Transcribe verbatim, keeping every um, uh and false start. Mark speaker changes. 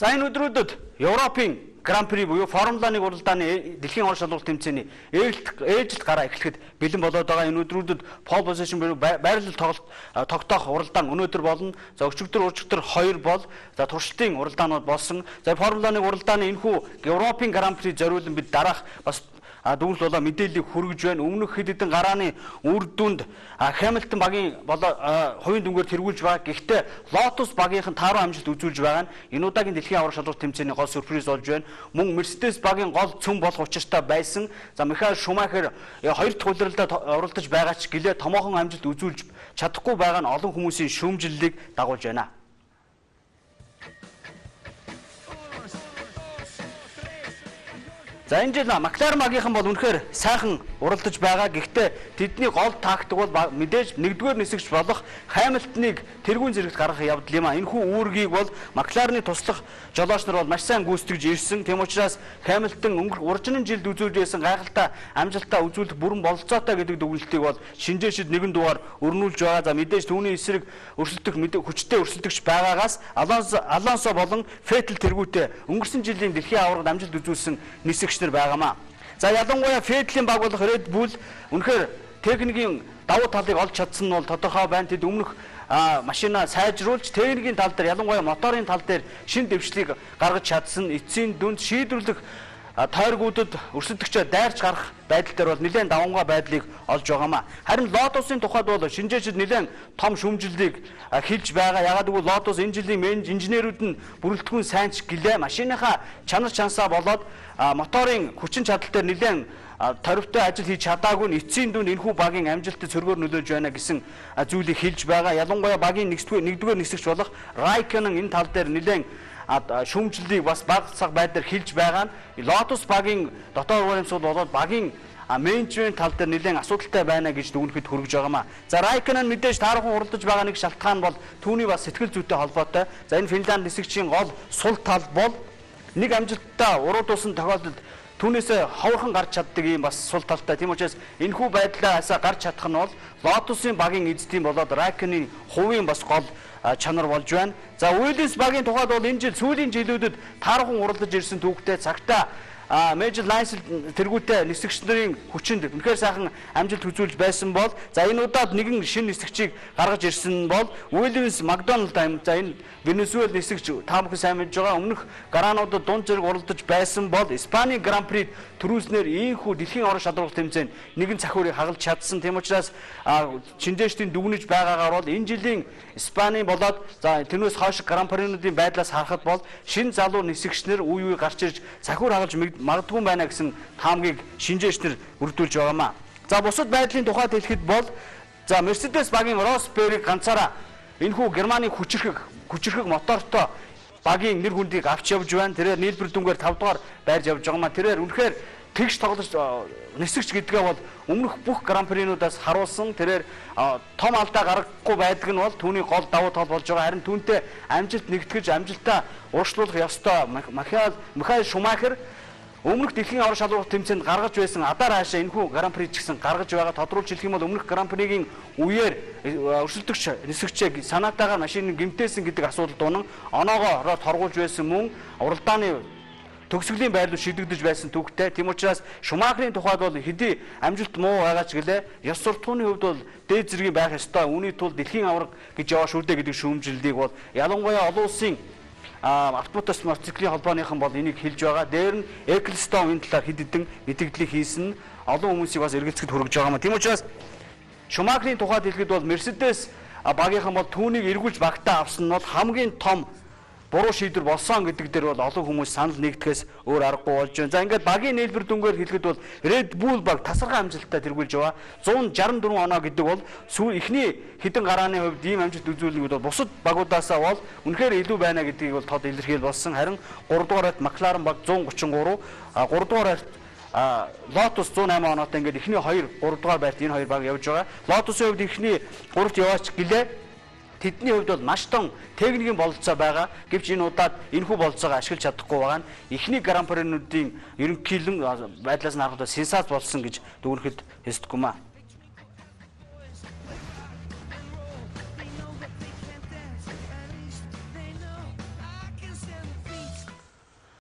Speaker 1: За энэ өдрүүдэд Европын Гран-при буюу Формула один уралдааны дэлхийн орон шалгуулалт тэмцээний ээлжилт гараа эхлэхэд бэлэн болоод байгаа. Энэ өдрүүдэд pole position буюу байрлал тоглолт тогтоох уралдаан өнөөдөр болно. За өчигдөр уржигдөр хоёр бол за туршилтын уралдаанууд болсон. За Формула один уралдааны энэхүү Европын Гран-при зориулан бид дараах бас А дүүл болоо мэдээллийг хүргэж байна. Өмнөх хэд хэдэн гарааны үр дүнд Хамилтон багийн болоо хувийн дүнгээр тэргүүлж байгаа. Гэхдээ Lotus багийнхан тааруу амжилт үзүүлж байгаа нь энэ удаагийн дэлхийн аврах шалралт тэмцээний гол сюрприз болж байна. Мөн Mercedes багийн гол цөм болох учиртай байсан. За Михаэль Шумахер хоёр дахь улиралдаа оролдож байгаа ч гэлээ томоохон амжилт үзүүлж чадахгүй байгаа нь олон хүмүүсийн шүүмжлэлийг дагуулж байна. За энэ жил Макларен багийнхан бол үнэхээр сайхан уралдаж байгаа. Гэхдээ тэдний гол тактик бол мэдээж нэгдүгээр нисэгч болох Хамилтоныг тэргүүн зэрэгт гаргах явдал юм а. Энэхүү үүргийг бол Макларены туслах жолооч нар бол маш сайн гүйцэтгэж ирсэн. Тэм учраас Хамилтон өнгөрөх уржинын жилд үзүүлж байсан гайхалтай амжилтаа үзүүлэх бүрэн бололцоотой гэдэг дүгнэлтийг бол шинжээчид нэгэн дугаар өрнүүлж байгаа. За мэдээж түүний эсрэг өрсөлдөх хүчтэй өрсөлдөгч байгаагаас Алонсо Алонсо болон Феттель тэргүүтээ өнгөрсөн жилийн дэлхийн аваргад амжилт үзүүлсэн нисэгч байгаамаа. За ялангуяа Феттелийн баг болох Red Bull үнэхээр техникийн давуу талыг олж чадсан нь бол тодорхой байна. Тэд өмнөх машина сайжруулж техникийн тал дээр ялангуяа моторын тал дээр шин дэвшлийг гаргаж чадсан. Эцсийн дүнд шийдвэрлэх тойргуудад өрсөлдөгчөө дайрч гарах байдал дээр бол нэлээд давангаа байдлыг олж байгаамаа. Харин Lotus-ын тухайд бол шинжээчид нэлээд том шүүмжлэлийг хэлж байгаа. Ягаад гэвэл Lotus энэ жилийн инженерүүд нь бүрэлдэхүүн сайн ч гэлээ машиныхаа чанар чансаа болоод моторын хүчин чадал дээр нэлээд торивтой ажил хийж чадаагүй нь эцсийн дүнд энэхүү багийн амжилтад цөргөөр нөлөөлж байна гэсэн зүйлийг хэлж байгаа. Ялангуяа багийн нэгдүгээр нэгдүгээр нисэгч болох Raikkonen энэ тал дээр нэлээд шүүмжлэлийг бас баг цаг байдлаар хэлж байгаа нь Lotus багийн дотоод урамсгал болоод багийн менежмент тал дээр нэлээд асуудалтай байна гэж дүгнэхэд хүргэж байгаамаа. За Raikkonen мэдээж таархан уралдаж байгаа нэг шалтгаан бол түүний бас сэтгэл зүйтэй холбоотой. За энэ Финланд нисэгчийн гол сул тал бол нэг амжилттай уруудуулсан тохиолдолд түүнээсээ ховорхон гарч чаддаг юм бас сул талтай. Тийм учраас энэхүү байдлаас гарч чадах нь бол Lotus-ын багийн эзэдийн болоод Raikkonen-ийн хувийн бас гол чанар болж байна. За Williams багийн тухайд бол энэ жил сүүлийн жилүүдэд таархан уралдаж ирсэн түүхтэй цагтаа Major Lance тэргүүтээ нисэгч нарын хүчинд үнэхээр сайхан амжилт үзүүлж байсан бол за энэ удаад нэгэн шинэ нисэгчийг гаргаж ирсэн бол Williams McDonald time за энэ Венесуэл нисэгч таамаг сайн мэдж байгаа. Өмнөх гараануудад дунд зэрэг уралдаж байсан бол Испани Гран-прид төрүүлснээр ийхүү дэлхийн орон шалралт тэмцээнд нэгэн цахиурыг хагалж чадсан. Тэм учраас шинжээчдийн дүгнэж байгаагаар бол энэ жилийн Испани болоод за тэрнээс хойш Гран-принуудын байдлаас харахад бол шинэ залуу нисэгчнэр үе үе гарч ирж цахиур хагалж магадгүй байна гэсэн таамгийг шинжээчнэр бүрдүүлж байгаамаа. За бусад байдлын тухайд хэлэхэд бол за Mercedes багийн Rosberg ганцаараа энэхүү Германы хүчирхэг хүчирхэг мотортой багийн нэр хүндийг авч явж байна. Тэрээр нийлбэр дүнгээр тав дахь байрж явж байгаамаа. Тэрээр үнэхээр тэгш тоглож нисэгч гэдгээ бол өмнөх бүх гран-принуудаас харуулсан. Тэрээр том алдаа гаргахгүй байдаг нь бол түүний гол давуу тал болж байгаа. Харин түүнтэй амжилт нэгтгэж амжилтаа урьдчилуулах ёстой Михаэль Михаэль Шумахер өмнөх дэлхийн аврах шалралт тэмцээнд гаргаж байсан адаар хаашаа энэхүү гран-при ч гэсэн гаргаж байгаа. Тодруулж хэлэх юм бол өмнөх гран-пригийн үеэр өрсөлдөгч нисэгчээ санаатаагаар машиныг гэмтээсэн гэдэг асуудал дуунан оноогоо торгуулж байсан мөн уралдааны төгсгөлийн байрлал шийдэгдэж байсан түүхтэй. Тийм учраас Шумахерийн тухайд бол хэдий амжилт муу байгаа ч гэлээ ёс суртахууны хувьд бол дээд зэргийн байх ёстой. Үүний тулд дэлхийн авраг гэж яваа шүү дээ гэдэг шүүмжлэлийг бол ялангуяа олон улсын автобус мотоциклийн холбооныхан бол энийг хэлж байгаа. Дээр нь Ecclestone энэ талаар хэд хэдэн мэдээлэл хийсэн олон хүмүүсийг бас эргэлзэхэд хүргэж байгаа юм. Тийм учраас Шумахерийн тухайд хэлэхэд бол Mercedes багийнхан бол түүнийг эргүүлж багтаа авсан нь бол хамгийн том буруу шийдвэр болсон гэдэг дээр бол олон хүмүүс санал нэгдэхээс өөр аргагүй болж байна. За ингээд багийн нийлбэр дүнгээр хэлэхэд бол Red Bull баг тасархай амжилттай тэргүүлж байгаа. зуун шарсан дөрвөн оноо гэдэг бол эхний хэдэн гарааны хувьд ийм амжилт үзүүлнэг бол бусад багуудаасаа бол үнэхээр илүү байна гэдгийг бол тод илэрхийл болсон. Харин гурав дугаарт Макларен баг зуун гучин гурав, гурав дугаарт Lotus зуун осем оноотой ингээд эхний хоёр гурав дугаар байрт энэ хоёр баг явж байгаа. Lotus-ийн хувьд эхний гуравт яваач гэлээ тэдний хувьд бол маш том техникийн бололцоо байгаа. Гэвч энэ удаад энэхүү бололцоогоо ашиглаж чадахгүй байгаа нь эхний гран-принуудын ерөнхийлөн байдлаас нь харахад сенсац болсон гэж дүгнэхэд хэсдэггүй маа.